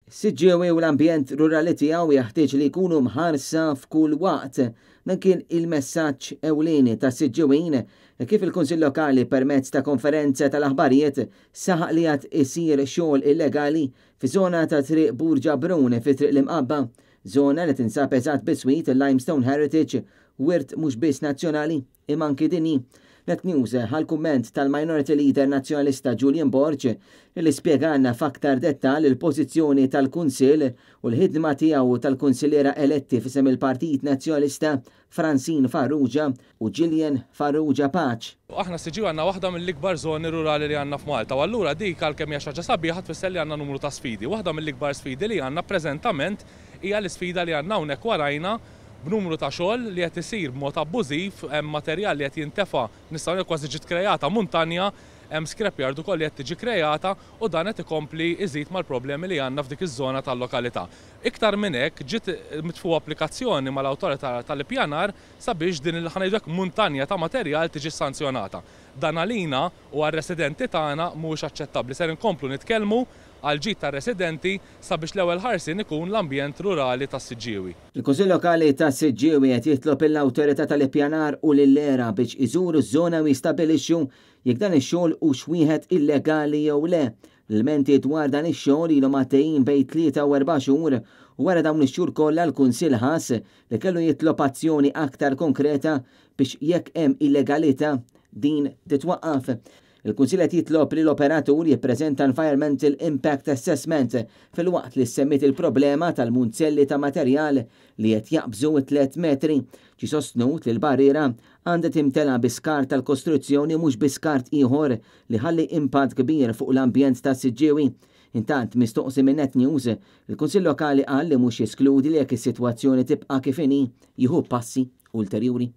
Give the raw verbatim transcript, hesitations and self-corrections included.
Siġġiewi u l-ambjent rurali tiegħu jeħtieġ li jkunu mħarsa f'kull waqt. Dan kien il-messaġġ ewlieni ta' Siġġiwin kif il-Kunsill Lokali permezz ta' konferenza tal-aħbarijiet saħaq li għad isir xogħol illegali fi żona ta' Triq Burġa Brun fi Triq l-Imqabba, żona li tinsab eżatt biswit il-Limestone Heritage, wirt mhux biss nazzjonali imma anki dinji. Net News ħa l-kumment tal-Minority Leader Nazzjonalista Julian Borg li spjegalna f'aktar dettal il-pożizzjoni tal-Kunsill u l-ħidma tiegħu tal-kunsilliera eletti f'isem il-Partit Nazzjonalista Francine Farrugia u Gillian Farrugia Pace. Aħna Siġġiewi għandna waħda mill-ikbar żoni rurali li għandna f'Malta u allura dik, għalkemm hija xi ħaġa sabiħa, tfisser li għandna numru ta' sfidi. Waħda mill-ikbar sfidi li għandna preżentament hija l-isfida li għandna hawnhekk warajna, b'numru ta' xogħol li qed isir b'mod abbużiv, hemm materjal li qed jintefa', nistgħu ngħid kważi ġiet kreata muntanja, hemm scrapyard ukoll li qed tiġi kreata u dan qed ikompli iżid mal-problemi li għandna f'dik iż-żona tal-lokalità. Iktar minn hekk, ġiet mitfugħa applikazzjoni mal-awtorità tal-ippjanar sabiex din il, ħa ngħidu, muntanja ta' materjal tiġi sanzjonata. Dan għalina u għar-residenti tagħna mhuwiex aċċettabbli. Ser inkomplu nitkellmu għal ġid tar-residenti sabiex l-ewwel ħarsin ikun l-ambjent rurali tas-Siġġiewi. Il-Kunsill Lokali tas-Siġġiewi qed jitlob l-awtorità tal-ippjanar u lill-ERA biex iżuru ż-żona u jistabilixxu jekk dan ix-xogħol hux wieħed illegali jew le. L-ilmenti dwar dan ix-xogħol ilhom għaddejjin bejn tlieta u erba' xhur u wara dawn ix-xhur kollha l-Kunsill ħass li kellu jitlob azzjoni aktar konkreta biex jekk hemm illegalità din titwaqqaf. Il-Kunsill qed jitlob li l-operatur jippreżenta Environmental Impact Assessment filwaqt li semmit il-problema tal-munzelli ta' materjal li qed jaqbżu tliet metri. Ġie sostnut li l-barriera għandha timtela bi skart tal-kostruzzjoni, mhux bi skart ieħor li ħalli impatt kbir fuq l-ambjent ta' Siġġiewi. Intant, mistoqsi minn Net News, il-Kunsill Lokali qal li mhux jeskludi li jekk is-sitwazzjoni tibqa' kif inhi jieħu passi ulterjuri.